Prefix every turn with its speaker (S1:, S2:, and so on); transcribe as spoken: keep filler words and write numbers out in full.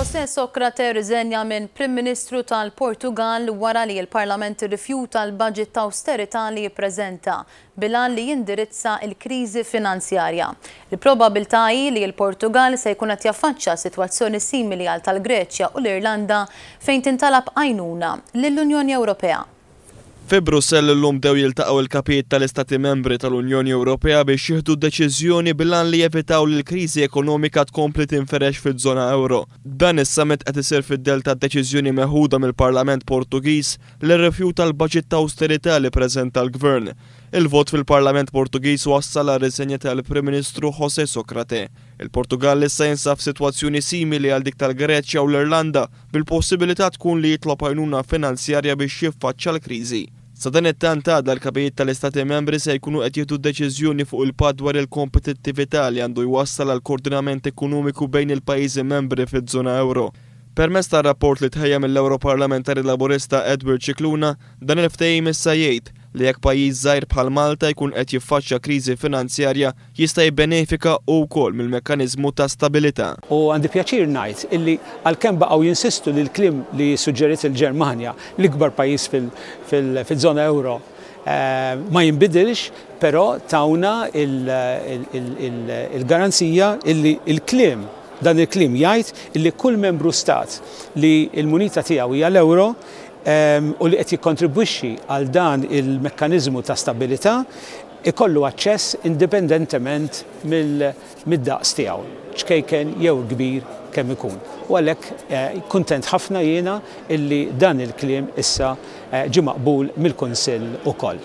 S1: José Sócrates rriżenja minn Prim Ministru tal-Portugal wara li l-Parlament irrifjuta l-budget ta' austerità li jippreżenta bil-għan li jindirizza l-kriżi finanzjarja. Il-probabilità hi li l-Portugal se jkun qed jaffaċċja sitwazzjoni simili għal tal-Greċja u l-Irlanda fejn tintalab għajnuna lill-Unjoni Ewropea.
S2: Fi Brussell illum bdew jiltaqgħu il-kapijiet tal-Istati Membri tal-Unjoni Ewropea biex jieħdu deċiżjoni bil-għan li jevitaw li l-kriżi ekonomika tkompli tinferex fiż-żona euro. Dan is-summit qed isir fid-dell ta' deċiżjoni meħuda mill-Parlament Portugiż li rrifjuta l-baġit ta' austerità li preżenta l-Gvern. Il-vot fil-Parlament Portugiż wassal għar-riżenja tal-Prim Ministru José Sócrates. Il-Portugal issa jinsab f'sitwazzjoni simili għal dik tal-Greċja u l-Irlanda, bil-possibilità tkun li jitlob għajnuna finanzjarja biex jiffaċċja l-kriżi. Sadanittant, għada l-kapijiet tal-Istati Membri se jkunu qed jieħdu deċiżjoni fuq il-patt dwar il-kompetittività li għandu jwassal għal koordinament ekonomiku bejn il-pajjiżi membri fiż-żona euro. Permezz tar-rapport li tħejja mill-Europarlamentari Laburista Edward Scicluna, dan il-ftehim issa jgħid li jekk pajjiż żgħir bħal Malta jkun qed jiffaċċja kriżi finanzjarja, jista' jibbenefika wkoll mill-mekkaniżmu ta' stabilità.
S3: U għandi pjaċir ngħid illi għalkemm baqgħu jinsistu li l-kliem li suġġeriet il-Ġermanja, l-ikbar pajjiż fil-żona euro, eh, ma jinbidilx, però tawna il-garanzija illi il-kliem dan il-kliem jgħid illi kull membru stat li l-munita tiegħu hija l-euro u li qed jikkontribwixxi għal dan il-mekkaniżmu ta' stabilità ikollu aċċess indipendentement mid-daqs tiegħu, ċkejken jew kbir kemm ikun. U għalhekk eh, kuntent ħafna jiena illi dan il-kliem issa eh, ġie maqbul mill-Kunsill ukoll.